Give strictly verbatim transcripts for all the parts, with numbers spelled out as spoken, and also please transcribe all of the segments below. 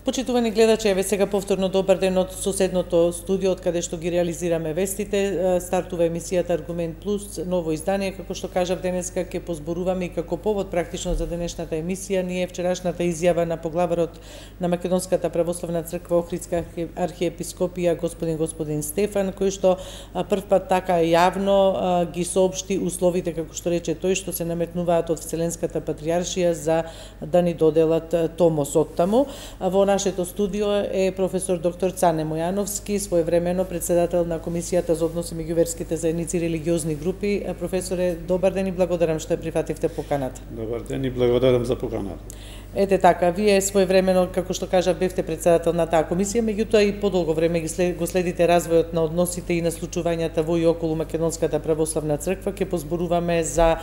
Почитувани гледачи, еве сега повторно добар ден од соседното студио, од каде што ги реализираме вестите. Стартува емисијата Аргумент Плюс, ново издание, како што кажав денеска ќе позборуваме и како повод практично за денешната емисија ние вчерашната изјава на поглаварот на Македонската православна црква Охридска архиепископија господин господин Стефан, кој што првпат така јавно ги соопшти условите, како што рече тој, што се наметнуваат од Вселенската патријаршија за да ни доделат томос од таму. Во нашето студио е професор доктор Цане Мојановски, своевремено председател на Комисијата за односи меѓу верските заедници и религиозни групи. Професоре, добар ден и благодарам што ја прифативте поканата. Добар ден и благодарам за поканата. Ете така, вие своевремено, како што кажав, бевте председател на таа комисија, меѓутоа и подолго време ги след, го следите развојот на односите и на случувањата во и околу Македонската православна црква. Ќе позборуваме за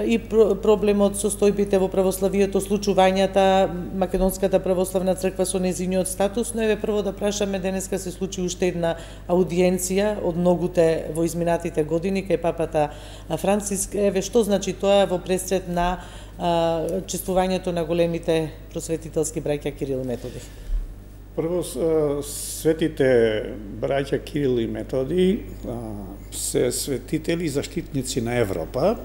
и проблемот со состојбите во православието, случувањата Македонската православна црква со незиниот статус, но еве прво да прашаме, денеска се случи уште една аудиенција од многуте во изминатите години кај папата Франциск. Еве што значи тоа во пресред на а, чествувањето на големите просветителски браќа Кирил и Методи? Прво, светите браќа Кирил и Методи се светители и заштитници на Европа,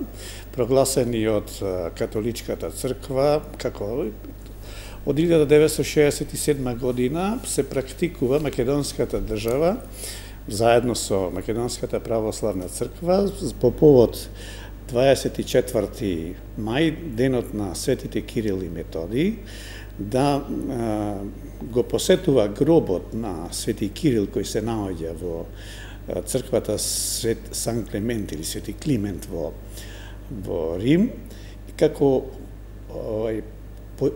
прогласени од католичката црква, како од илјада деветстотини шеесет и седма година се практикува македонската држава заедно со Македонската православна црква по повод дваесет и четврти мај, денот на светите Кирил и Методи, да а, го посетува гробот на свети Кирил кој се наоѓа во црквата Свет Сан Климент или Свети Климент во во Рим, како овај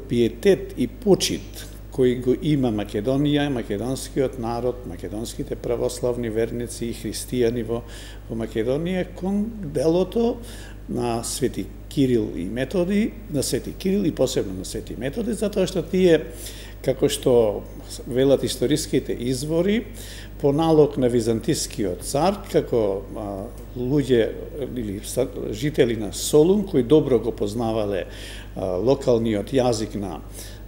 пиетет и почит кој го има Македонија, македонскиот народ, македонските православни верници и христијани во, во Македонија кон делото на свети Кирил и Методи, на свети Кирил и посебно на свети Методи, затоа што тие, како што велат историските извори, по налог на византискиот цар, како а, луѓе или жители на Солун, кои добро го познавале а, локалниот јазик на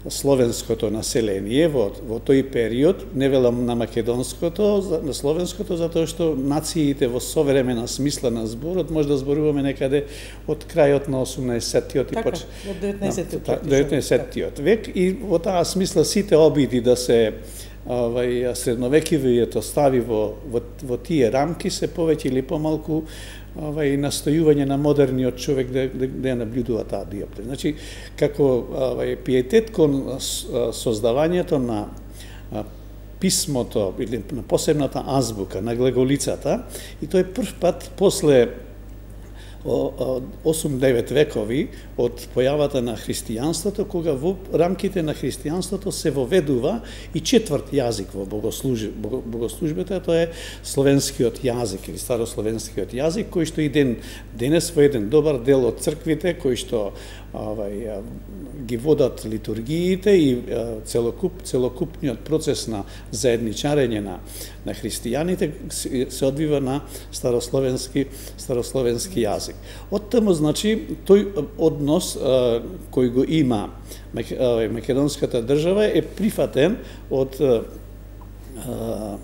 словенското население во, во тој период, не велам на македонското, на словенското, затоа што нациите во современа смисла на зборот може да зборуваме некаде од крајот на осумнаесеттиот така, и поч... од деветнаесеттиот деветнаесеттиот век, и во таа смисла сите обиди да се овај средновекивието стави во, во, во тие рамки се повеќе или помалку овај настојување на модерниот човек да, да, да ја наблюдува таа диоптрија. Значи, како овај пиетет кон создавањето на писмото или на посебната азбука на глеголицата, и тој прв пат после осум-девет векови од појавата на христијанството, кога во рамките на христијанството се воведува и четврт јазик во богослужбата, тоа е словенскиот јазик или старословенскиот јазик, кој што и ден денес во еден добар дел од црквите, кои што овај ги водат литургиите и целокуп целокупниот процес на заедничарење на на христијаните се одвива на старословенски старословенски јазик. Од таму, значи, тој однос а, кој го има македонската држава е прифатен од а,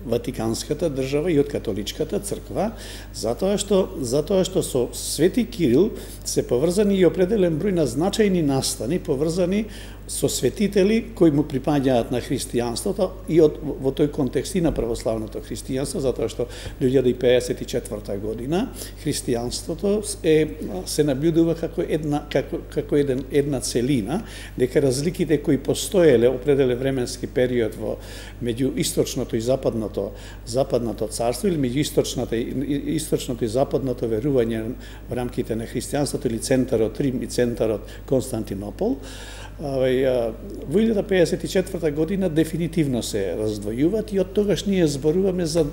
Ватиканската држава и од католичката црква, затоа што затоа што со свети Кирил се поврзани и определен број на значајни настани поврзани со светители кои му припаѓаат на христијанството и од, во тој контекст и на православното христијанство, затоа што во илјада пеесет и четврта година христијанството е се наблюдува како една како како еден една целина, дека разликите кои постоеле определен временски период во меѓу источното и западното западното царство или меѓу источната источното и западното верување во рамките на христијанството или центарот Рим и центарот Константинопол, во илјада пеесет и четврта година дефинитивно се раздвојуваат и од тогаш ние зборуваме за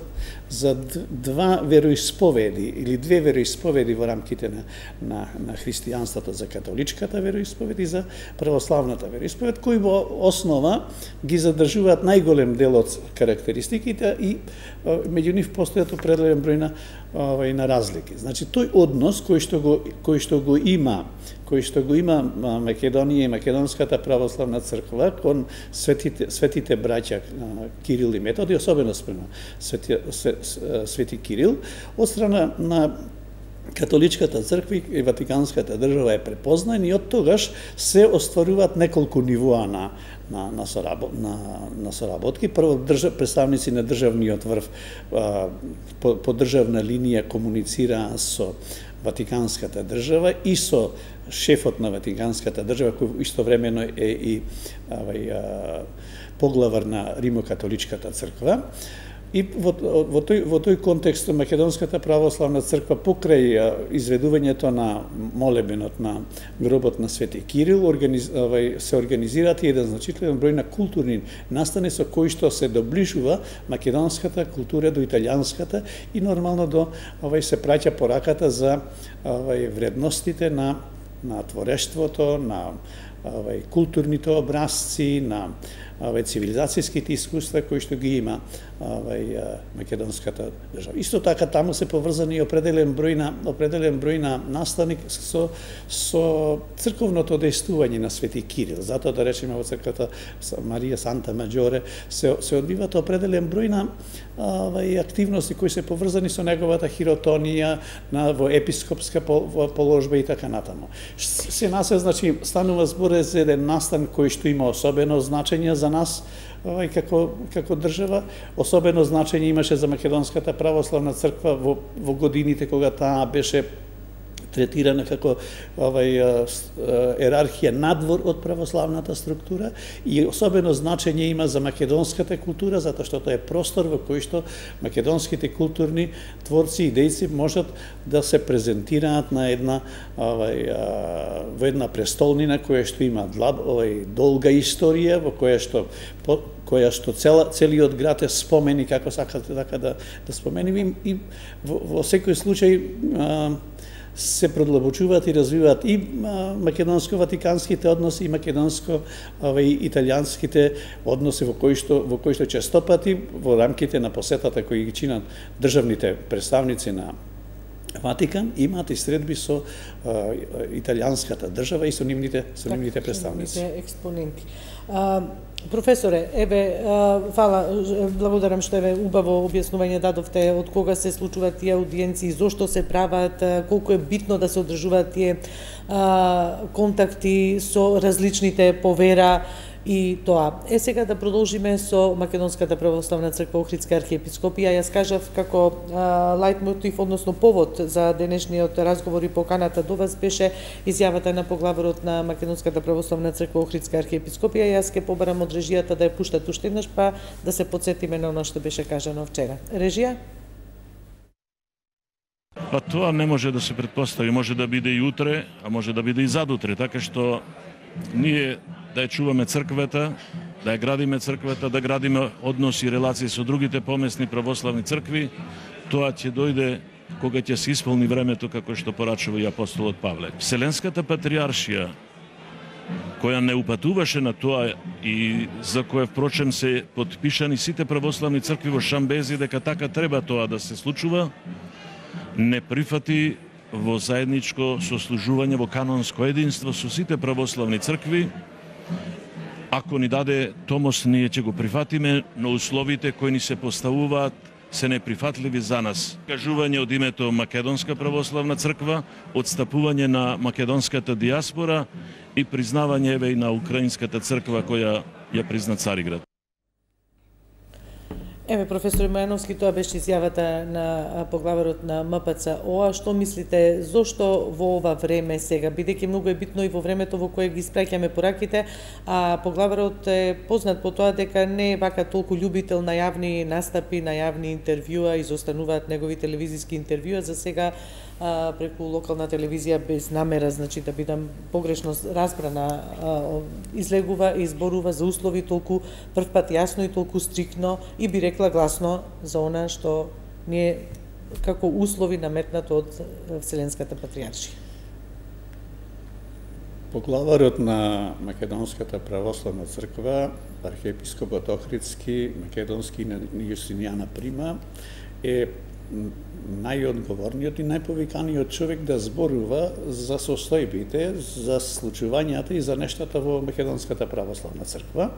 за два вероисповеди или две вероисповеди во рамките на на, на христијанството, за католичката вероисповед и за православната вероисповед, кои во основа ги задржуваат најголем дел од карактеристиките и меѓу нив постојат определен број на овај на разлики. Значи тој однос кој што го кој што го има, кој што го има Македонија и Македонската православна црква кон светите светите браќа Кирил и Методи, особено спрема свети, свети Кирил, од страна на Католичката црква и Ватиканската држава е препознаен и од тогаш се остваруваат неколку нивоа на на на, сорабо, на, на соработки. Прво држав, представници на државниот врв а, по, по државна линија комуницираа со Ватиканската држава и со шефот на Ватиканската држава, кој истовремено е и авај, а, поглавар на Римо-католичката црква. И во, во, тој, во тој контекст Македонската православна црква покрај изведувањето на молебенот на гробот на Свети Кирил организ, овај, се организираат еден значителен број на културни настани со кои што се доближува македонската култура до италијанската и нормално до овај се праќа пораката за овај вредностите на на творештвото, на овај културните образци, на овај цивилизацијските искуства кои што ги има овај македонската држава. Исто така таму се поврзани и определен број на определен број на настани со со црковното дејствување на Свети Кирил. Затоа да речеме во црквата Марија Санта Маџоре се се одбиваат определен број на овај активности кои се поврзани со неговата хиротонија на во епископска положба и така натаму. Се насе, значи, станува збор за еден настан кој што има особено значење за нас овај како како држава, особено значење имаше за Македонската православна црква во во годините кога таа беше третирана како овај ерархија надвор од православната структура и особено значење има за македонската култура затоа што тоа е простор во кој што македонските културни творци и дејци можат да се презентираат на една овај во една престолнина која што има овај долга историја во која што по, која што цела, целиот град е спомени како сакате така да да спомениме и во, во секој случај а, се продлабочуваат и развиваат и македонско-ватиканските односи и македонско овај италијанските односи во кои што во кои што честопати во рамките на посетата кои ги чинат државните представници на Ватикан имаат и средби со а, италијанската држава и со нивните со нивните представници. Нивните експоненти. А, професоре, еве, а, фала, благодарам што еве убаво објаснување дадовте од кога се случуваат тие аудиенции, зошто се прават, колку е битно да се одржуваат тие а, контакти со различните повера и тоа. Е, сега да продолжиме со Македонската православна црква Охридска архиепископија. Јас кажав како лајтмотив, односно повод за денешниот разговор и поканата до вас беше изјавата на поглаварот на Македонската православна црква Охридска архиепископија. Јас ќе побарам од режијата да ја пуштат уште еднаш, па да се потсетиме на она што беше кажано вчера. Режија? Па тоа не може да се претпостави, може да биде и утре, а може да биде и задутре, така што ние да ја чуваме црквата, да ја градиме црквата, да градиме односи и релации со другите помесни православни цркви, тоа ќе дојде кога ќе се исполни времето како што порачува и апостолот Павле. Вселенската патриаршија, која не упатуваше на тоа и за која впрочем се потпишани сите православни цркви во Шамбези дека така треба тоа да се случува, не прифати во заедничко сослужување во канонско единство со сите православни цркви. Ако ни даде томос, ние ќе го прифатиме, но условите кои ни се поставуваат се неприфатливи за нас. Кажување од името Македонска православна црква, отстапување на македонската диаспора и признавање еве и на украинската црква која ја призна Цариград. Еве, професор Мојановски, тоа беше изјавата на поглаварот на М П Ц О А. Што мислите, зошто во ова време сега, бидејќи многу е битно и во времето во кое ги испраќаме пораките, а поглаварот е познат по тоа дека не е вака толку љубител на јавни настапи, на јавни интервјуа, изостануваат негови телевизиски интервјуа, за сега а, преку локална телевизија без намера, значи да бидам погрешно разбрана, а, излегува и изборува за услови толку првпат јасно и толку стрикно и би рекла гласно за она што ние како услови наметнато од Вселенската патриаршија. Поглаварот на Македонската православна црква, архиепископот Охридски, македонски Јустинијана Прима, е најодговорниот и најповиканиот човек да зборува за состојбите, за случувањата и за нештата во Македонската православна црква.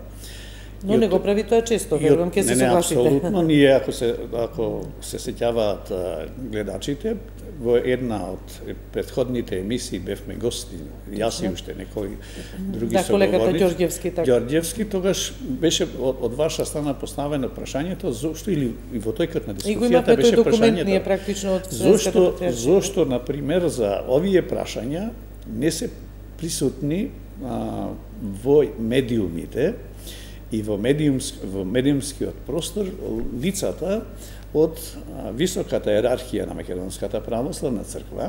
Но не го прави тоа често, верувам ќе се согласите. Не, не, апсолутно. Ние, ако се, ако се сеќаваат гледачите, во една од претходните емисии бевме гости, јас и уште некои други да, колегата соговорници. Ѓорѓевски, така. Ѓорѓевски, тогаш беше од, од ваша страна поставено прашањето, зошто, или и во тојкот на дискусијата беше прашањето. Ние практично од зошто, зошто, например, за овие прашања не се присутни а, во медиумите, и во, медиумс, во медиумскиот простор лицата од високата иерархија на Македонската православна црква,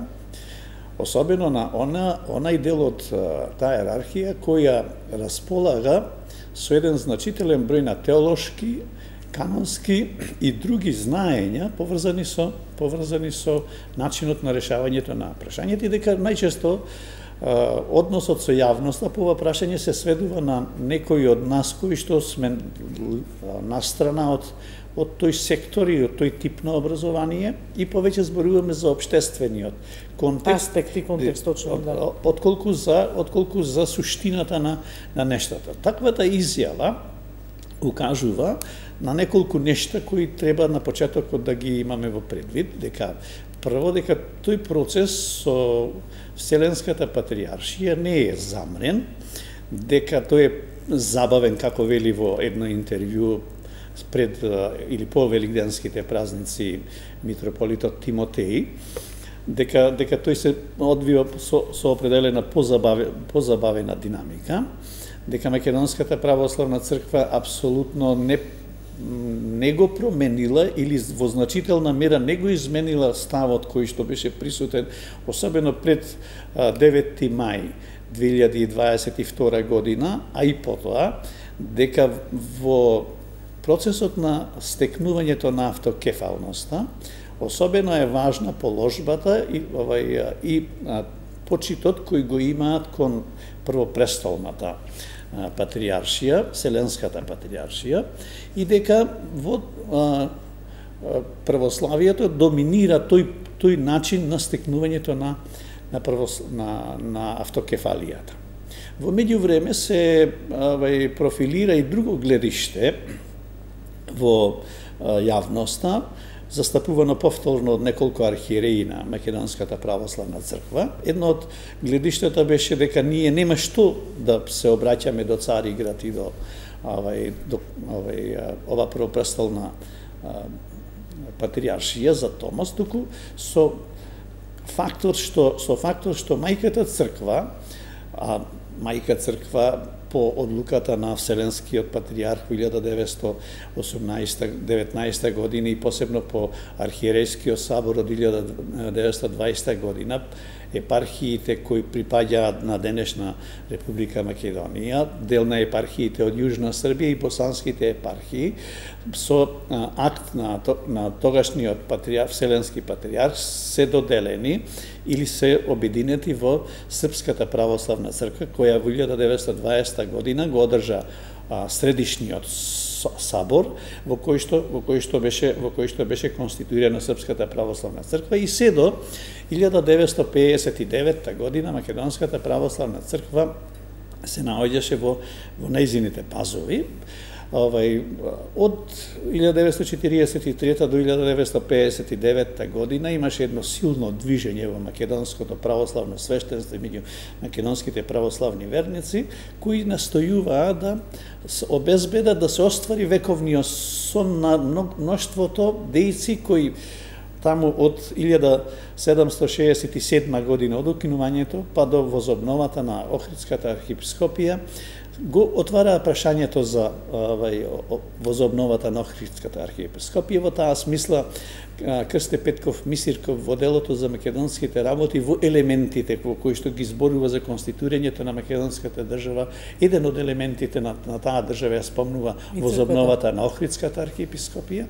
особено на она, онај дел од таа иерархија која располага со еден значителен број на теолошки, канонски и други знаења поврзани со поврзани со начинот на решавањето на прашањето, и дека најчесто односот со јавноста по ова прашање се сведува на некои од нас кои што сме настрана од од тој сектор и од тој тип на образование, и повеќе зборуваме за општествениот контекст, аспект и контекст точно, да. Отколку за отколку за суштината на на нештата. Таквата изјава укажува на неколку нешта кои треба на почетокот да ги имаме во предвид, дека прво дека тој процес со Вселенската патриаршија не е замрен, дека тој е забавен, како вели во едно интервју пред или по великденските празници митрополитот Тимотеј, дека дека тој се одвива со, со определена позабавена, позабавена динамика, дека Македонската православна црква апсолутно не не го променила или во значителна мера не го изменила ставот кој што беше присутен, особено пред деветти мај две илјади и дваесет и втора година, а и потоа, дека во процесот на стекнувањето на автокефалноста, особено е важна положбата и, овај, и а, почитот кој го имаат кон првопрестолната патриаршија, Вселенската патриаршија, и дека во а, православието доминира тој тој начин на стекнувањето на на, правос, на, на автокефалијата. Во меѓувреме се авај, профилира и друго гледиште во а, јавноста, застапувано повторно од неколку архиереи на Македонската православна црква. Едно од гледиштата беше дека ние нема што да се обраќаме до Цариград и до овај до овај ова првопрестолна патриаршија за Томас, туку со фактор што со фактор што мајката црква, а мајка црква по одлуката на Вселенскиот патриарх во илјада деветстотини и осумнаесета деветнаесета година и посебно по архиерејскиот сабор од илјада деветстотини и дваесета година, епархиите кои припаѓаат на денешна Република Македонија, дел на епархиите од Јужна Србија и босанските епархии, со а, акт на, на тогашниот патриарх, Вселенски патриарх се доделени или се обединети во Српската православна црква, која во илјада деветстотини и дваесета година го одржа а, средишниот сабор во кој што во кој што беше во кој што беше конституирана Српската православна црква, и се до илјада деветстотини пеесет и девета година Македонската православна црква се наоѓаше во во нејзините пазови. Овај, од илјада деветстотини четириесет и трета до илјада деветстотини пеесет и девета година имаше едно силно движење во македонското православно свештенство и меѓу македонските православни верници, кои настојуваа да обезбедат да се оствари вековниот сон на мноштвото дејци кои таму од илјада седумстотини шеесет и седма година од укинувањето па до возобновата на Охридската архиепископија го отвараа прашањето за овај возобновата на Охридската архиепископија. Во таа смисла Крсте Петков Мисирков во делото за македонските работи во елементите во кои што ги зборува за конституирањето на македонската држава, еден од елементите на, на таа држава ја спомнува возобновата на Охридската архиепископија.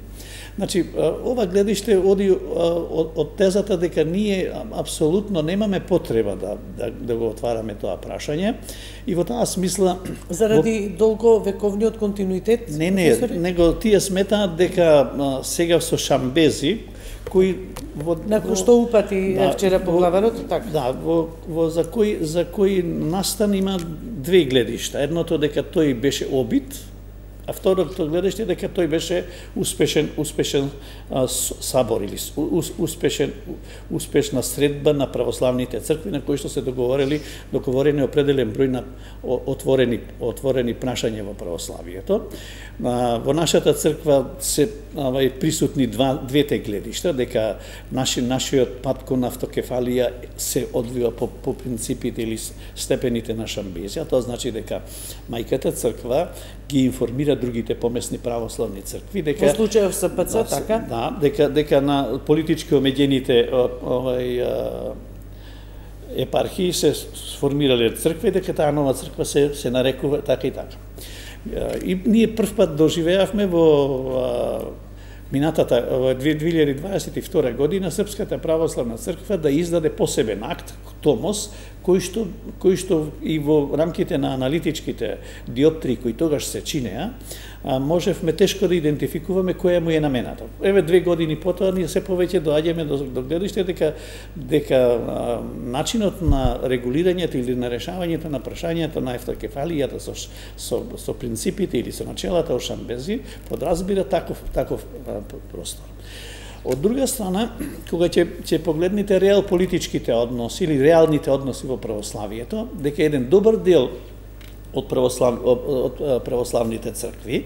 Значи, ова гледиште оди од, од тезата дека ние апсолутно немаме потреба да, да, да го отвараме тоа прашање, и во таа смисла Заради долго вековниот континуитет? Не, не, него тие сметаат дека а, сега со шамбези кои во Након што упати да, вчера поглаварот, така. Да, во, во за кој за кој настан има две гледишта. Едното дека тој беше обид, а второто гледиште дека тој беше успешен успешен а, сабор или ус, успешен успешна средба на православните цркви на кои што се договорили договорени определен број на отворени отворени прашања во православието. А, во нашата црква се авај присутни два двете гледишта дека наши нашиот пат кон автокефалија се одвива по, по принципите или степените на шамбезија. Тоа значи дека мајката црква ги информира другите помесни православни цркви дека во случајов С П Ц, да, така? Да, дека дека на политички омеѓените овај епархии се сформирале цркви, дека таа нова црква се се нарекува така и така. И ние првпат доживеавме во минатата во две илјади дваесет и втора година Српската православна црква да издаде посебен акт, томос, кој што кој што и во рамките на аналитичките диоптрии кои тогаш се чинеа, можевме тешко да идентификуваме која му е намената. Еве две години потоа ние се повеќе доаѓаме до, до гледиште дека дека а, начинот на регулирањето или на решавањето на прашањето на автокефалијата со со со принципите или со начелата о шамбези подразбира таков таков а, простор. Од друга страна, кога ќе ќе погледнете реал политичките односи или реалните односи во православието, дека еден добар дел од православ од православните цркви,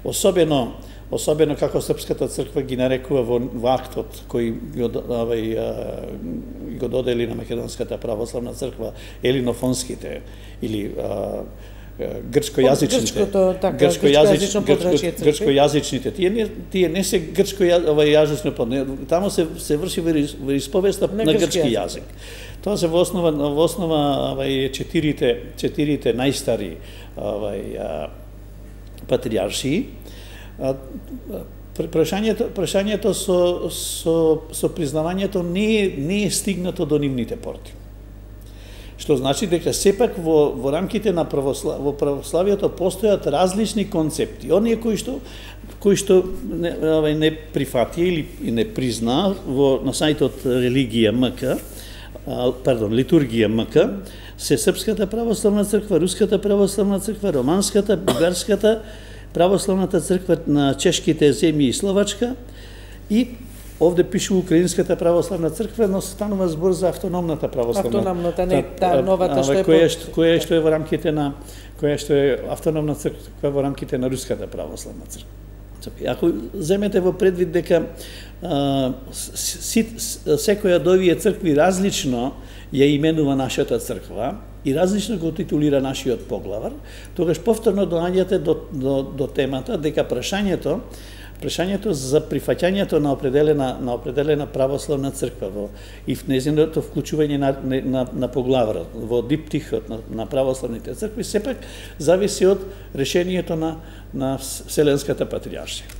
особено особено како Српската црква ги нарекува во, во актот кој го овај го додели на Македонската православна црква елинофонските или а, грчкојазичните грчкојазично грчкојазичните тие не тие не се грчко овај јазично, таму се се врши во исповеста на грчки јазик. Тоа се во основа во основа овај четирите четирите најстари овај патријаршии. Прашањето прашањето со со со признавањето не не е стигнато до нивните порти. Што значи дека сепак во во рамките на православ, во православието постојат различни концепти. Оние кои што кои што не, не прифати или не призна во на сајтот религија МК, пардон, литургија МК, се Српската православна црква, Руската православна црква, Романската, Бугарската православната црква на чешките земји и Словачка и овде пише Украинската православна црква, но станува збор за автономната православна. Автономната, не та новата што е која што која што е во рамките на која што е автономна црква во рамките на Руската православна црква. Ако земете во предвид дека а, си, секоја од овие цркви различно ја именува нашата црква и различно го титулира нашиот поглавар, тогаш повторно доаѓате до, до, до темата дека прашањето прашањето за прифаќањето на определена на определена православна црква во и в нејзиното вклучување на на, на поглаварот во диптихот на, на православните цркви сепак зависи од решението на на Вселенската патријаршија.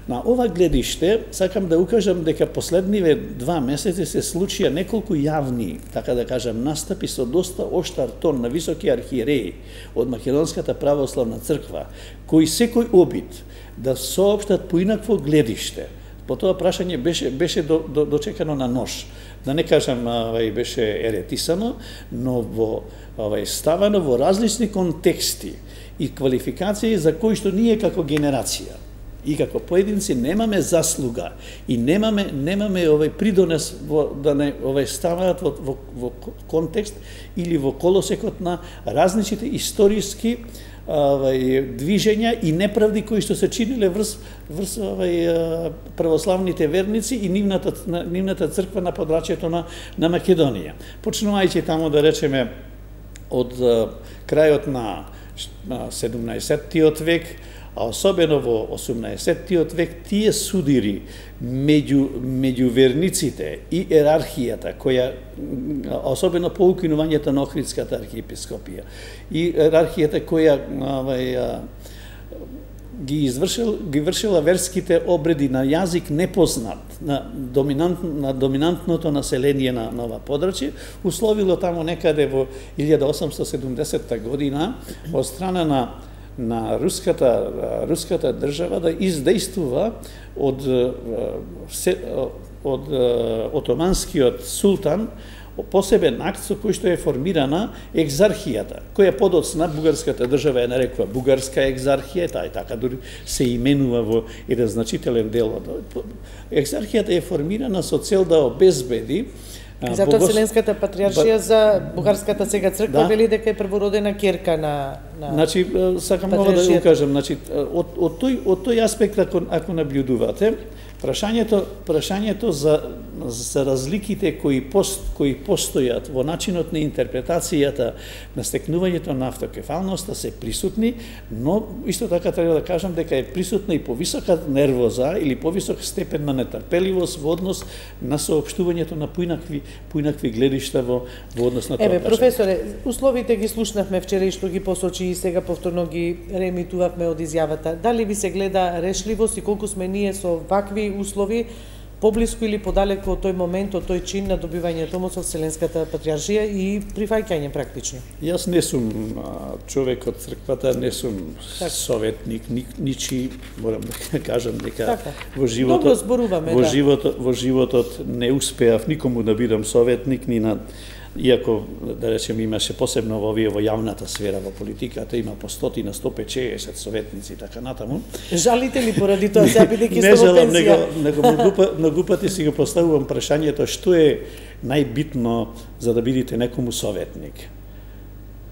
На ова гледиште сакам да укажам дека последниве два месеци се случија неколку јавни, така да кажам, настапи со доста оштар тон на високи архиереи од Македонската православна црква, кои секој обид да соопштат поинакво гледиште. По тоа прашање беше беше до, до, дочекано на нож. Да не кажам, авај беше еретисано, но во авај ставано во различни контексти и квалификации за кои што ние како генерација и како поединци немаме заслуга и немаме немаме овој придонес во, да не овој ставаат во, во, во контекст или во колосекот на различните историски овај движења и неправди кои што се чиниле врз врз овај православните верници и нивната нивната црква на подрачјето на на Македонија. Почнувајќи таму да речеме од крајот на седумнаесеттиот век, а особено во осумнаесеттиот век, тие судири меѓу меѓу верниците и ерархијата која особено по укинувањето на Охридската архиепископија и ерархијата која овај ги извршил ги вршила верските обреди на јазик непознат на доминант на доминантното население на нова подрачје, условило таму некаде во илјада осамстотини и седумдесетта година од страна на на руската руската држава да издействува од од отоманскиот султан посебен акт со кој што е формирана екзархијата, која подоцна бугарската држава ја нарекува бугарска екзархија, таа и така дури се именува во еден значителен дел од екзархијата е формирана со цел да обезбеди. И затоа Богос... Вселенската патриаршија за бугарската сега црква да. Вели дека е првородена ќерка на на Значи сакам нова да ја кажам, значи од од тој од тој аспект ако ако наблюдувате, прашањето прашањето за за разликите кои пост кои постојат во начинот на интерпретацијата на стекнувањето на автокефалноста се присутни, но исто така треба да кажам дека е присутна и повисока нервоза или повисок степен на нетрпеливост во однос на соопштувањето на поинакви поинакви гледишта во во однос на тоа. Еве професоре, условите ги слушнавме вчера и што ги посочи и сега повторно ги реемитувавме од изјавата. Дали ви се гледа решливост и колку сме ние со вакви услови поблиску или подалеку од тој момент, од тој чин на добивање томос од Вселенската патриаршија и прифаќање практично? Јас не сум човек од црквата, не сум так. советник, ни, ничи, морам да кажам дека така. во животот зборуваме, во да. животот во животот не успеав никому да бидам советник ни на Иако, да речем, имаше посебно во овие во јавната сфера, во политиката, има по стотина, сто петдесет советници и така натаму. Жалите ли поради тоа сега бидејќи сте во пенсија? Не жалам, него, него многу, многу пати си го поставувам прашањето што е најбитно за да бидете некому советник.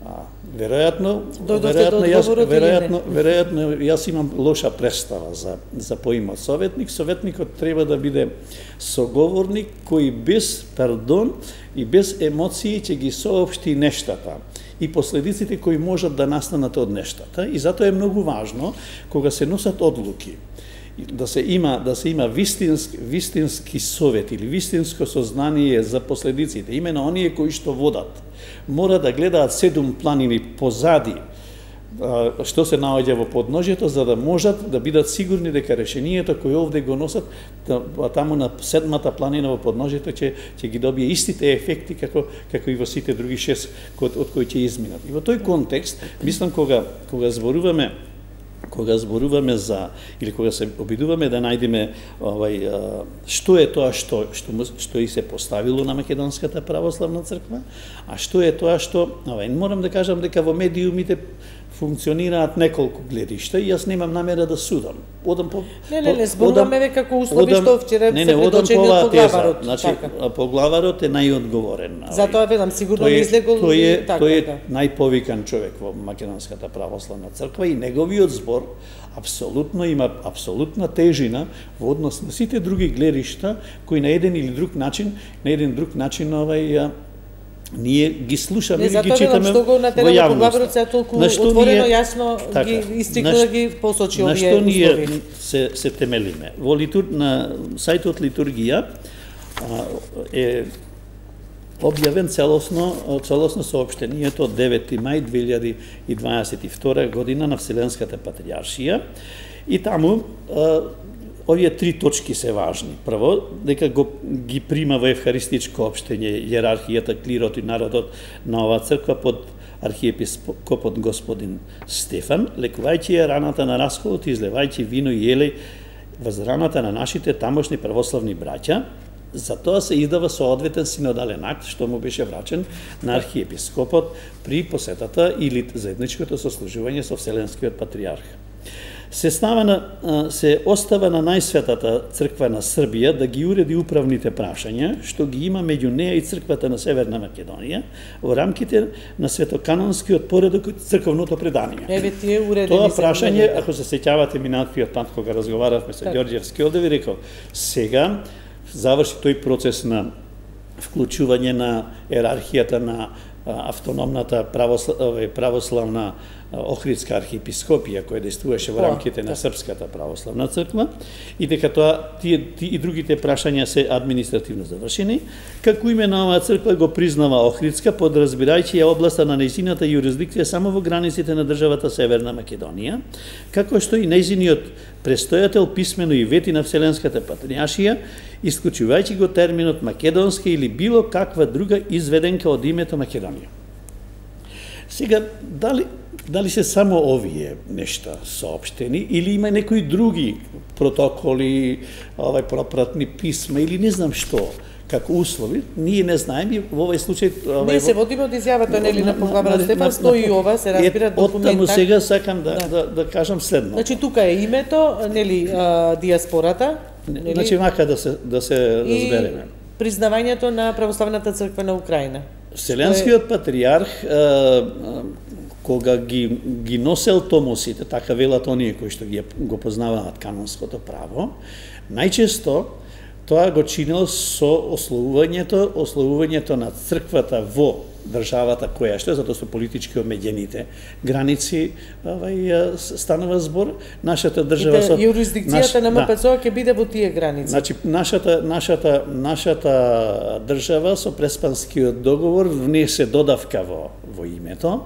А, веројатно, веројатно, јас, веројатно, веројатно јас имам лоша представа за за поимот советник. Советникот треба да биде соговорник кој без пардон и без емоции ќе ги соопшти нештата и последиците кои можат да настанат од нештата. И затоа е многу важно кога се носат одлуки да се има да се има вистински вистински совет или вистинско сознание за последиците. Имено оние кои што водат мора да гледаат седум планини позади што се наоѓа во подножјето, за да можат да бидат сигурни дека решението кои овде го носат таму на седмата планина во подножјето ќе ќе ги добие истите ефекти како како и во сите други шест од, од кои ќе изминат. И во тој контекст мислам кога кога зборуваме кога зборуваме за или кога се обидуваме да најдеме овај што е тоа што што што и се поставило на Македонската православна црква, а што е тоа што овај морам да кажам дека во медиумите функционираат неколку гледишта и јас немам намера да судам. Одам по Не, не, не, зборуваме ве како услови што вчера се предочени од поглаварот. Значи, така. Поглаварот е најодговорен. Затоа велам сигурно не излегол тој е, така. Тој е да. најповикан човек во Македонската православна црква и неговиот збор апсолутно има апсолутна тежина во однос на сите други гледишта кои на еден или друг начин, на еден друг начин овај ние ги слушаме и ги читаме што го на во поглаварот се толку отворено јасно така, ги истикна да ги посочи овие услови. На што ние се се темелиме? Во литур на сајтот Литургија е објавен целосно целосно соопштението од девети мај две илјади и дваесет и втора година на Вселенската патриаршија и таму овие три точки се важни. Прво, дека го ги прима во евхаристичко општење иерархијата, клирот и народот на оваа црква под архиепископот господин Стефан, лекувајќи ја раната на расколот и излевајќи вино и елеј воз раната на нашите тамошни православни браќа. Затоа се издава соодветен синодален акт што му беше врачен на архиепископот при посетата или заедничкото сослужување со Вселенскиот патриарх. Се става на, се остава на најсветата црква на Србија да ги уреди управните прашања, што ги има меѓу неа и црквата на Северна Македонија во рамките на светоканонскиот поредок од црковното предание. Еве тие уредени. Тоа прашање, ако се сеќавате минатиот пат кога разговаравме со Ѓорѓевски, овде ви рекол, сега заврши тој процес на вклучување на иерархијата на автономната православна, православна Охридска архиепископија која действуваше во рамките на Српската православна црква и дека тоа тие, тие и другите прашања се административно завршени, како именно оваа црква го признава Охридска, подразбирајќи ја областа на нејзината јурисдикција само во границите на државата Северна Македонија, како што и нејзиниот престојател писмено и вети на Вселенската патријаршија, исклучувајќи го терминот македонска или било каква друга изведенка од името Македонија. Сега, дали Дали се само овие нешта соопштени или има некои други протоколи, овај пропратни писма или не знам што како услови, ние не знаеме во овој случај. Ние се водиме од изјавата нели на поглавар Стефан, стои ова, се разбира документар. Оттаму сега сакам да, да. да да кажам следно. Значи тука е името, нели диаспората, нели? Значи вака да се да се разбереме. Признавањето на православната црква на Украина. Вселенскиот патријарх кога ги, ги носел томосите, така велат оние кои што ги го познаваат канонското право, најчесто тоа го чинел со ословувањето, ословувањето на црквата во државата која што е, затоа со политички омеѓените граници овај станува збор. Нашата држава со јурисдикцијата на МПЦО ќе биде во тие граници. Значи нашата нашата нашата држава со Преспанскиот договор внесе додавка во во името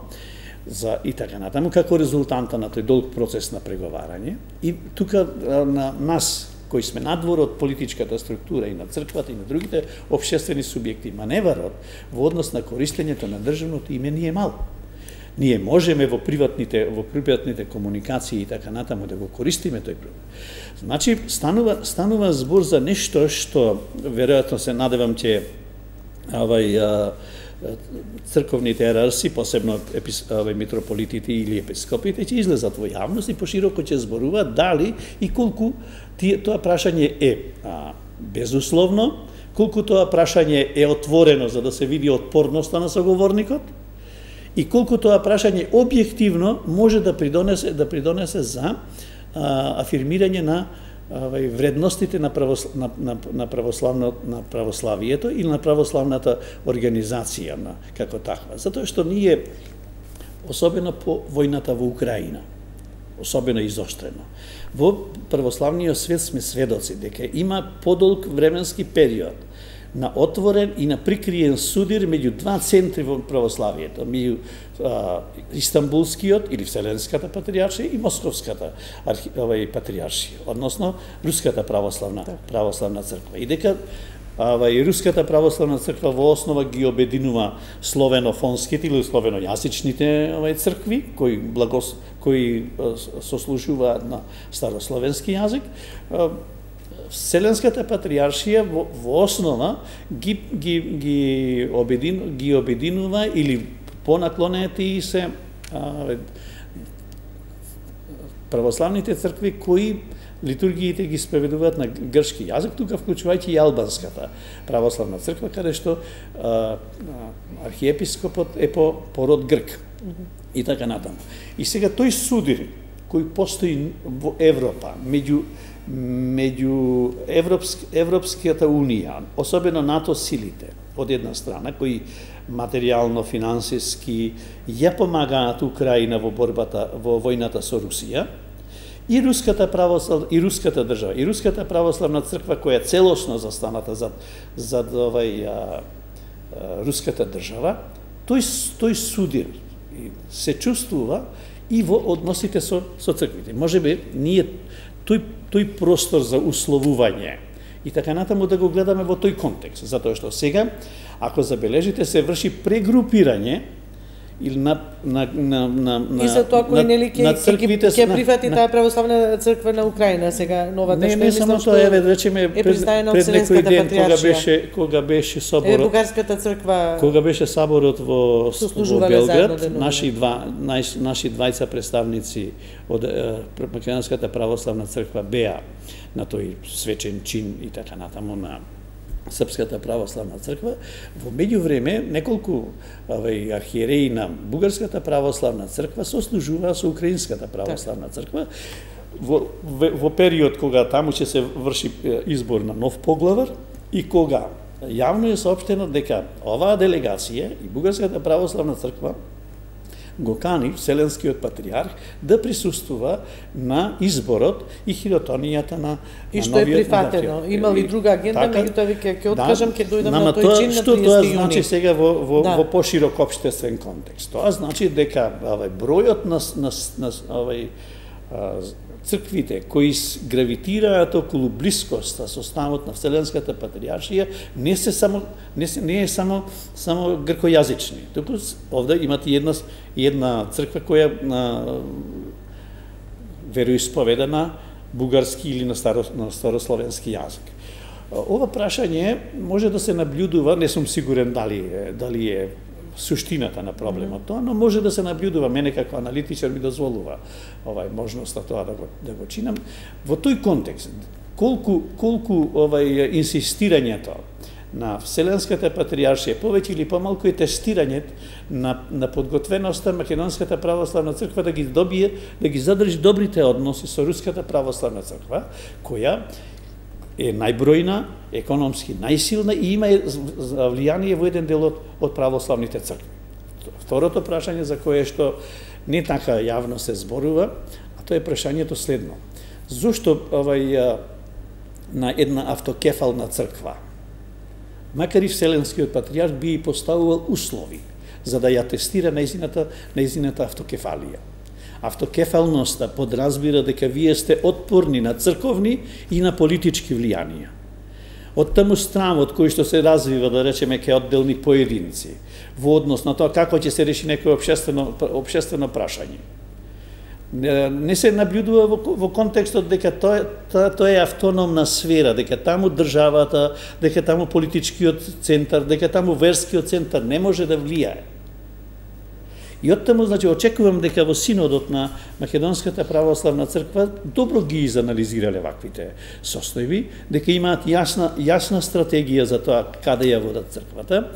за и така натаму како резултанта на тој долг процес на преговарање. И тука на нас кои сме надвор од политичката структура и на црквата и на другите општествени субјекти, маневарот во однос на користењето на државното име не е мал. Ние можеме во приватните во приватните комуникации и така натаму да го користиме тој проблем. Значи станува станува збор за нешто што веројатно се надевам ќе овај црковните иерарси, посебно митрополитите или епископите, ќе излезат во јавност и пошироко ќе зборуваат дали и колку тие, тоа прашање е а, безусловно, колку тоа прашање е отворено за да се види отпорноста на соговорникот и колку тоа прашање објективно може да придонесе да придонесе за а, афирмирање на Авај, вредностите на, православ, на, на, на, православно, на православието или на православната организација на, како таква. Затоа што ние, особено по војната во Украина, особено изоштрено, во православниот свет сме сведоци дека има подолг временски период на отворен и на прикриен судир меѓу два центри во православието, меѓу Истанбулскиот или Вселенската патријаршија и Московската архи, овај, патријаршија, односно Руската православна православна црква. И дека овај, Руската православна црква во основа ги обединува словенофонските или словенојазичните овај цркви кои благос кои сослужуваат на старословенски јазик. Вселенската патријаршија во, во основа ги ги ги обедин ги обединува или понаклонети се а, православните цркви кои литургиите ги спроведуваат на грчки јазик, тука вклучувајќи и албанската православна црква, каде што а, архиепископот е по пород грк. И така натаму. И сега тој судир кој постои во Европа меѓу меѓу Европск, Европската унија, особено НАТО силите, од една страна, кои материјално, финансиски ја помагаат Украина во борбата, во војната со Русија, и Руската православна, и Руската држава, и Руската православна црква, која целосно застаната зад, зад овај, а, а, Руската држава, тој, тој судир се чувствува и во односите со, со црквите. Може би, ние тој тој простор за условување и така натаму да го гледаме во тој контекст, затоа што сега, ако забележите, се врши прегрупирање или на на на на на и за тоа кој нели ќе ќе ќе прифати таа православна црква на Украина сега новата не, што не, само тоа еве речеме пред, пред некој ден кога беше кога беше соборот е бугарската црква кога беше соборот во во Белград, наши два најс, наши двајца представници од Македонската православна црква беа на тој свечен чин и така натаму на Српската православна црква. Во меѓувреме неколку овај архиереи на Бугарската православна црква сослужуваа со Украинската православна црква во, во, во период кога таму ќе се врши избор на нов поглавар и кога Јавно е соопштено дека оваа делегација и Бугарската православна црква го кани Вселенскиот патриарх да присуствува на изборот и хиротонијата на и што е прифатено. Има ли друга агенда, меѓутоа ви ќе откажам, ќе дојдам на тој чин на што тоа значи јуни. сега во во, да. во поширок општествен контекст. Тоа значи дека овај бројот на на, на овај црквите кои гравитираат околу блискоста со ставот на Вселенската патријаршија не се само не се не е само само гркојазични. Туку овде имате една една црква која на вероисповеда на бугарски или на старо на старословенски јазик. Ова прашање може да се наблюдува, не сум сигурен дали дали е суштината на проблемот тоа, но може да се наблюдува, мене како аналитичар ми дозволува овај можноста тоа да го да го чинам во тој контекст. Колку колку овај инсистирањето на Вселенската патријаршија повеќе или помалку е тестирањето на на подготвеноста Македонската православна црква да ги добие, да ги задржи добрите односи со Руската православна црква, која е најбројна, економски најсилна и има влијание во еден дел од, од православните цркви. Второто прашање за кое што не така јавно се зборува, а тоа е прашањето следно. Зошто овај на една автокефална црква, макар и Вселенскиот патријарх би и поставувал услови за да ја тестира нејзината нејзината автокефалија. Автокефалноста подразбира дека вие сте отпорни на црковни и на политички влијанија. Од таму стравот кој што се развива, да речеме, ке одделни поединци, во однос на тоа како ќе се реши некој општествено општествено прашање. Не, не се наблюдува во, во контекстот дека тоа тоа тоа е автономна сфера, дека таму државата, дека таму политичкиот центар, дека таму верскиот центар не може да влијае. И оттаму, значи, очекувам дека во синодот на Македонската православна црква добро ги изанализирале ваквите состојби, дека имаат јасна јасна стратегија за тоа каде ја водат црквата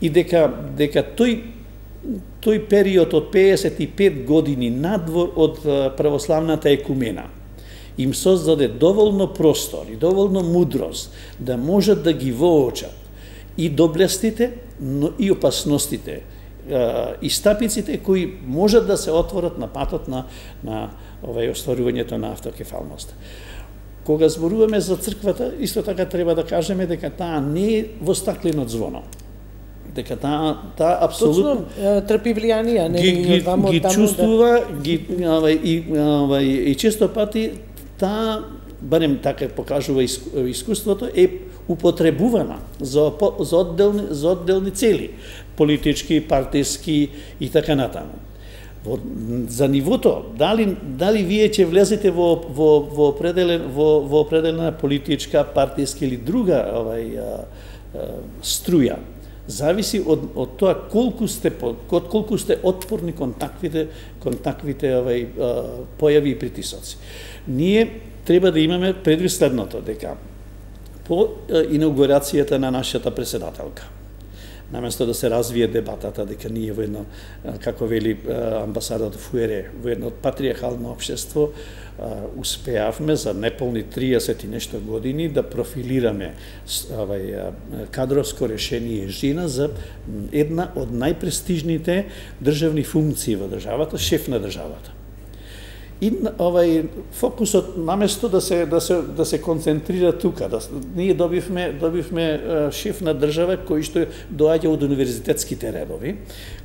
и дека дека тој тој период од пеесет и пет години надвор од православната екумена им создаде доволно простор и доволно мудрост да можат да ги воочат и доблестите, но и опасностите и стапиците кои можат да се отворат на патот на на овај остварувањето на автокефалност. Кога зборуваме за црквата, исто така треба да кажеме дека таа не е во стаклено звоно. Дека таа таа апсолутно трпи влијанија, не ги, ги, вамо ги таму чувствува, да... ги овај и овај и често пати таа, барем така покажува искуството, е употребувана за за одделни за одделни цели, политички, партиски и така натаму. Во, за нивото, дали дали вие ќе влезете во во во определен во во определена политичка, партиска или друга овај а, а, струја, зависи од од тоа колку сте од колку сте отпорни кон таквите кон таквите овај а, појави и притисоци. Ние треба да имаме предвид следното, дека по инаугурацијата на нашата председателка, наместо да се развие дебатата дека ние во едно, како вели амбасадот Фуере, во едно патриархално општество успеавме за неполни триесет и нешто години да профилираме овај кадровско решение жена за една од најпрестижните државни функции во државата, шеф на државата. И овај фокусот наместо да се да се да се концентрира тука, да ние добивме добивме шеф на држава кој што доаѓа од универзитетските редови,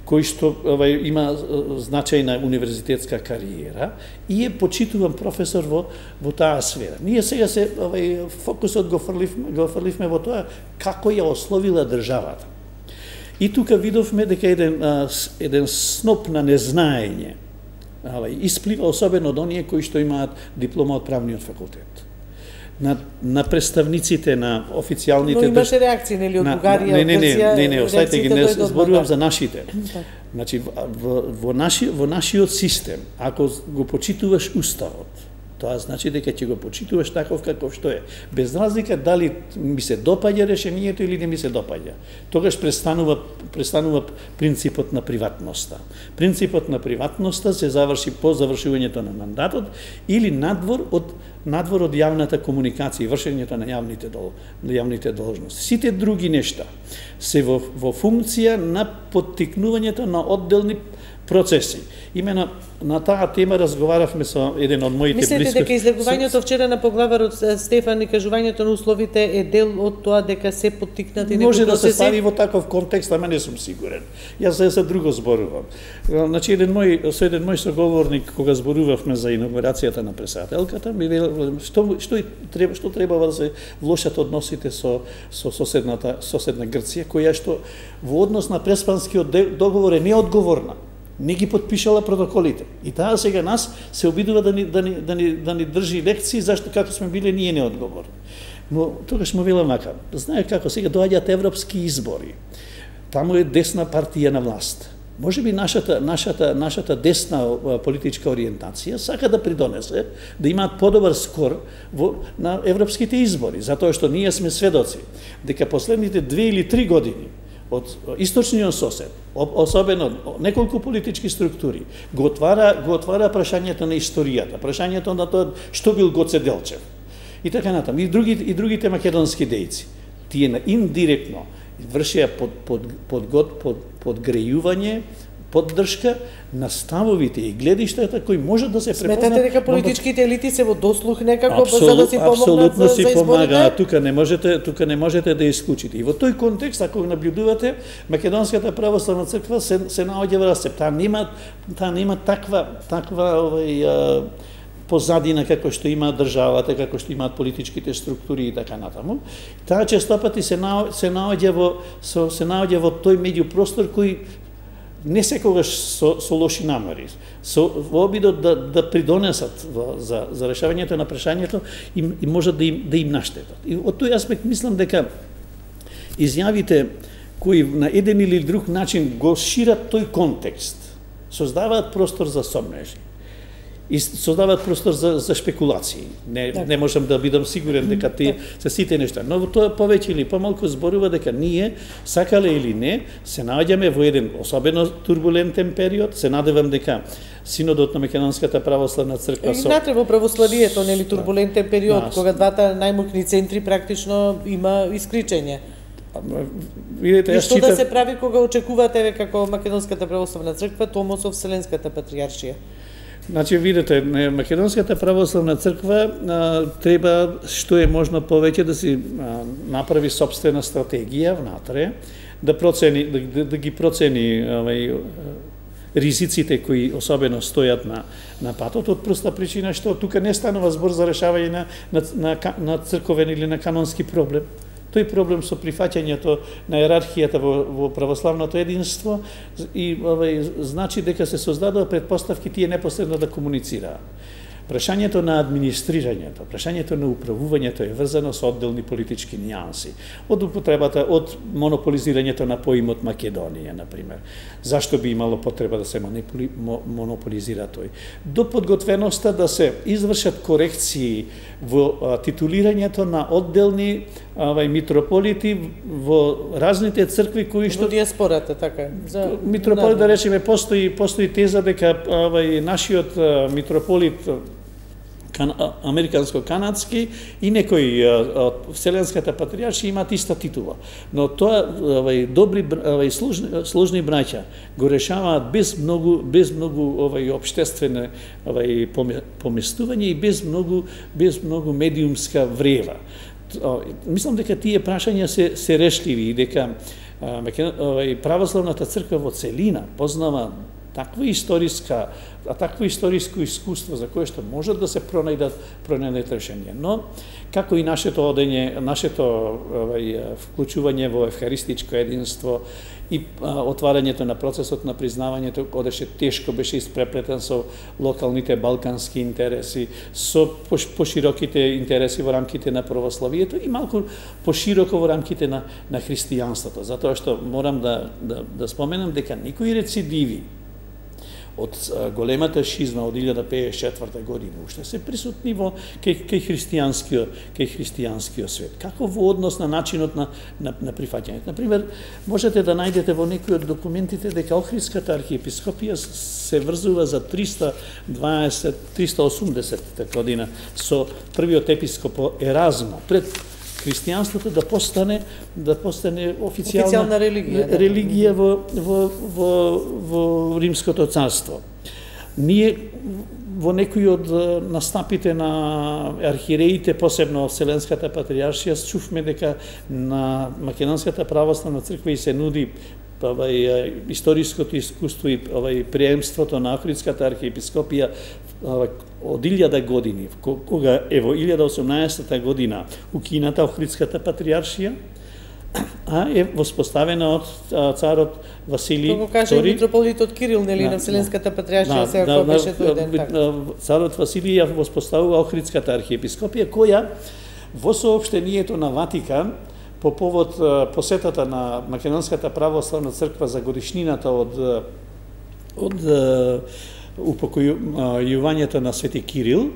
кој што овај има значајна универзитетска кариера и е почитуван професор во во таа сфера. Ние сега се овај фокусот го фрливме го фрливме во тоа како ја ословила државата. И тука видовме дека еден еден сноп на незнаење исплива особено од оние кои што имаат диплома од правниот факултет. На на представниците на официјалните Но имаше реакции нели од Бугарија, не, не, не, Грција, не, не, оставете ги, не зборувам за нашите. Да. Значи во, во наши во нашиот систем, ако го почитуваш уставот, Тоа значи дека ќе го почитуваш таков каков што е. Без разлика дали ми се допаѓа решението или не ми се допаѓа. Тогаш престанува престанува принципот на приватноста. Принципот на приватноста се заврши по завршувањето на мандатот или надвор од надвор од јавната комуникација и вршењето на јавните дол, на јавните должности. Сите други нешта се во во функција на поттикнувањето на одделни процеси. Имено на таа тема разговаравме со еден од моите блиски. Мислите дека излегувањето вчера на поглаварот Стефан и кажувањето на условите е дел од тоа дека се поттикнати некои процеси? Може да се процеси? стави во таков контекст, ама не сум сигурен. Јас за, за друго зборувам. Значи еден мој со еден мој соговорник кога зборувавме за инаугурацијата на претседателката, ми вел што што треба што требава да се влошат односите со со соседната соседна Грција, која што во однос на преспанскиот договор е неодговорна. Не ги подпишала протоколите. И таа сега нас се обидува да ни, да ни, да ни, да ни држи лекции зашто како сме биле ние неодговорни. Но тогаш му велам вака, знае како сега доаѓаат европски избори. Таму е десна партија на власт. Може би нашата, нашата, нашата десна политичка ориентација сака да придонесе да имаат подобар скор во, на европските избори, затоа што ние сме сведоци дека последните две или три години од источниот сосед, особено неколку политички структури, го отвара, го отвара прашањето на историјата, прашањето на тоа што бил Гоце Делчев. И така натаму. И, други, и другите македонски дејци. Тие на индиректно вршеа под, под, под, под, под, подгрејување, поддршка на ставовите и гледиштата кои можат да се препознат. Сметате дека политичките елити се во дослух некако Абсолют, за да си помогнат апсолутно за, си за изборите? помагаат. Тука не можете, тука не можете да исклучите. И во тој контекст, ако наблюдувате, Македонската православна црква се, се наоѓа во растеп. Таа нема, таа нема таква, таква овај, а, позадина како што има државата, како што имаат политичките структури и така натаму. Таа честопати се на, се наоѓа во со, се наоѓа во тој меѓупростор кој не секогаш со, со лоши намери, со во обидот да, да придонесат во, за, за решавањето на прашањето и, и можат да им, да им наштетат. И од тој аспект мислам дека изјавите кои на еден или друг начин го шират тој контекст, создаваат простор за сомнежи и создаваат простор за, за шпекулации. Не, да. не можам да бидам сигурен дека ти се сите нешта. Но тоа повеќе или помалку зборува дека ние, сакале или не, се наоѓаме во еден особено турбулентен период. Се надевам дека Синодот на Македонската православна црква со... Внатре во православието, нели, турбулентен период, да. кога двата најмокни центри практично има исклучење. Видете, и што читав... да се прави кога очекувате како Македонската православна црква, Томосов Вселенската патријаршија? Значи, видите, Македонската православна црква а, треба што е можно повеќе да си а, направи собствена стратегија внатре, да процени да, да ги процени овај ризиците кои особено стојат на на патот, од проста причина што тука не станува збор за решавање на на, на, на црковен или на канонски проблем. Тој проблем со прифаќањето на иерархијата во, во православното единство и овај, значи дека се создадува предпоставки тие непосредно да комуницираат. Прашањето на администрирањето, прашањето на управувањето е врзано со одделни политички нијанси. Од употребата, од монополизирањето на поимот Македонија, например. Зашто би имало потреба да се монополизира тој? До подготвеноста да се извршат корекции во а, титулирањето на одделни авај, митрополити во разните цркви кои што... Во диаспората, така. За... Митрополит, да речеме, постои, постои теза дека авај, нашиот а, митрополит кан, американско-канадски и некои од Вселенската патријаршија имаат иста титула. Но тоа овај добри овај служни, служни браќа го решаваат без многу без многу овај општествено овај поместување и без многу без многу медиумска врева. Мислам дека тие прашања се се решливи и дека овај православната црква во целина познава таква историска, а такво историско искуство за кое што можат да се пронајдат пронајдат решенија. Но како и нашето одење, нашето овај вклучување во евхаристичко единство и а, отварањето на процесот на признавањето одеше тешко, беше испреплетен со локалните балкански интереси, со пошироките интереси во рамките на православието и малку пошироко во рамките на на христијанството, затоа што морам да да, да споменам дека никои рецидиви од големата шизма од илјада пеесет и четврта година уште се присутни во кај кај христијанскиот кај христијанскиот свет. Како во однос на начинот на на, на прифаќање. На пример, можете да најдете во некои од документите дека Охридската архиепископија се врзува за триста дваесет триста осумдесета година со првиот епископ Еразмо пред христијанството да постане да постане официјална, официјална религија, да. религија во во во во Римското царство. Ние во некои од настапите на архиереите, посебно Вселенската патријаршија, чувме дека на Македонската православна црква и се нуди овај историското искуство и овај приемството на Охридската архиепископија од илјада години, кога ево илјада осумнаесета година укината Охридската патријаршија, а е воспоставена од царот Василий Втори. Како каже митрополитот Кирил, нели, на Вселенската патријаршија, сега кога беше тој ден така. Царот Василий ја воспоставува Охридската архиепископија, која во соопштението на Ватикан по повод посетата на Македонската православна црква за годишнината од од упокојувањето на Свети Кирил,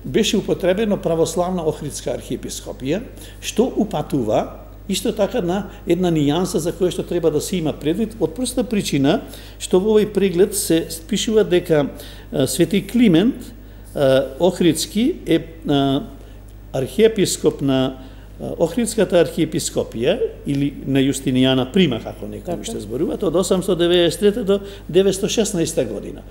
беше употребено православна Охридска архиепископија, што упатува исто така на една нијанса за која што треба да се има предвид, од проста причина што во овој преглед се пишува дека Свети Климент Охридски е архиепископ на Охридската архиепископија или на Јустинијана Прима, како некои што зборуваат, од осамстотини деветдесет и трета до деветстотини и шеснаесета година.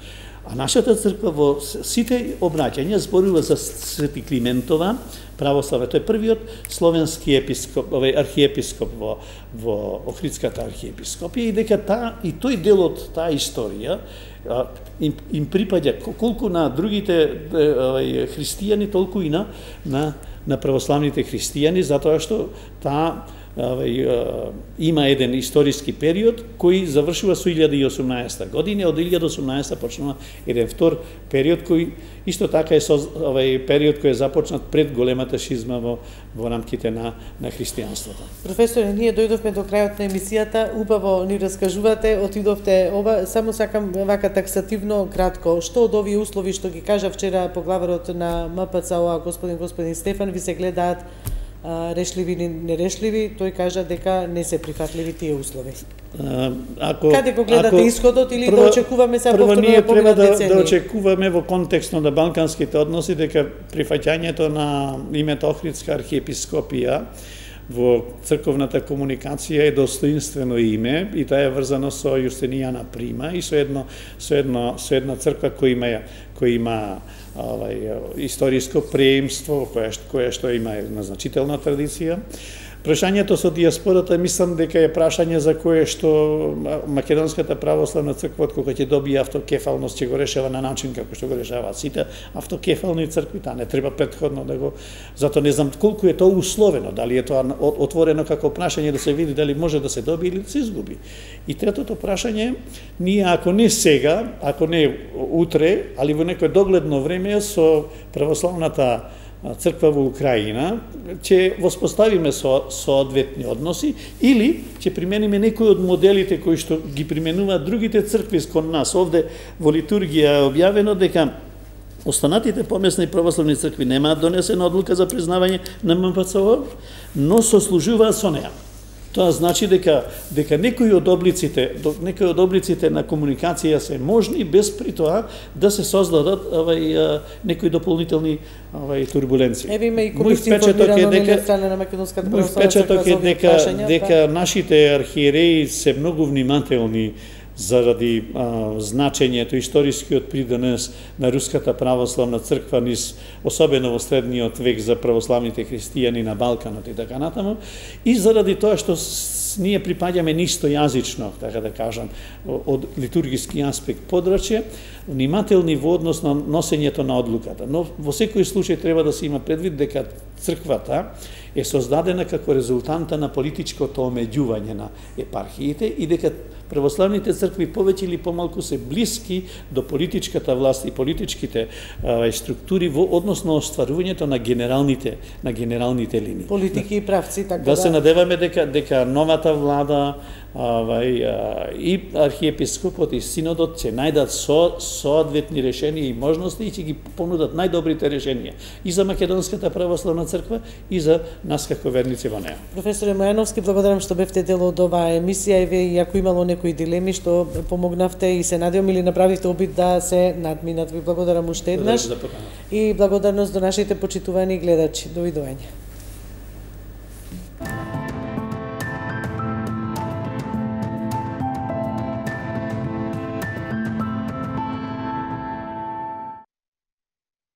А нашата црква во сите обраќања зборува за Свети Климентова православие. Тој е првиот словенски епископ, овој архиепископ во во Охридската архиепископија, и дека таа и тој дел од таа историја им, им припаѓа колку на другите овај христијани, толку и на на на православните христијани, затоа што таа овај, има еден историски период кој завршува со илјада и осумнаесета година, од илјада и осумнаесета почнува еден втор период кој исто така е со овај период кој е започнат пред големата шизма во во рамките на на христијанството. Професоре, ние дојдовме до крајот на емисијата, убаво ни раскажувате, отидовте ова, само сакам вака таксативно кратко, што од овие услови што ги кажа вчера поглаварот на М П Ц О, господин господин Стефан, ви се гледаат решливи или нерешливи, тој кажа дека не се прифатливи тие услови. А, ако Каде го гледате ако, исходот или прво, да очекуваме се повторно да победат децени? Прво да очекуваме во контекстот на балканските односи дека прифаќањето на името Охридска архиепископија во црковната комуникација е достоинствено име и тоа е врзано со Јустинијана Прима и со едно со едно со една црква која има која има овај историско преемство, која која што има една значителна традиција. Прашањето со диаспората мислам дека е прашање за кое што Македонската православна црква кога ќе добие автокефалност ќе го решава на начин како што го решаваат сите автокефални цркви, таа не треба претходно да го, затоа не знам колку е тоа условено, дали е тоа отворено како прашање да се види дали може да се добие или да се изгуби. И третото прашање, ние ако не сега, ако не утре, али во некое догледно време со православната црква во Украина, ќе воспоставиме со соодветни односи или ќе примениме некои од моделите кои што ги применуваат другите цркви кон нас. Овде во литургија е објавено дека останатите помесни православни цркви немаат донесена одлука за признавање на М П Ц О, но сослужуваат со неа. Тоа значи дека дека некои од облиците, некои од облиците на комуникација се можни без при тоа да се создадат овај некои дополнителни овај турбуленции. Еве има и информирано дека страна на Македонската православна црква е дека дека нашите архиереи се многу внимателни заради а, значењето, историскиот придонес на Руската православна црква низ, особено во средниот век за православните христијани на Балканот и така натаму, и заради тоа што ние припаѓаме нистојазично, така да кажам, од литургиски аспект подрачје, внимателни во однос на носењето на одлуката. Но во секој случај треба да се има предвид дека црквата е создадена како резултанта на политичкото омеѓување на епархиите и дека православните цркви повеќе или помалку се блиски до политичката власт и политичките а, структури во однос на остварувањето на генералните на генералните линии. Политики и правци, така да. Да се надеваме дека дека новата влада Авај, и архиепископот и синодот ќе најдат со соодветни решенија и можности и ќе ги понудат најдобрите решенија и за Македонската православна црква и за нас како верници во неа. Професоре Мојановски, благодарам што бевте дел од оваа емисија и ве, ако имало некои дилеми што помогнавте и се надевам или направивте обид да се надминат. Ви благодарам уште еднаш и благодарност до нашите почитувани гледачи. Довидување.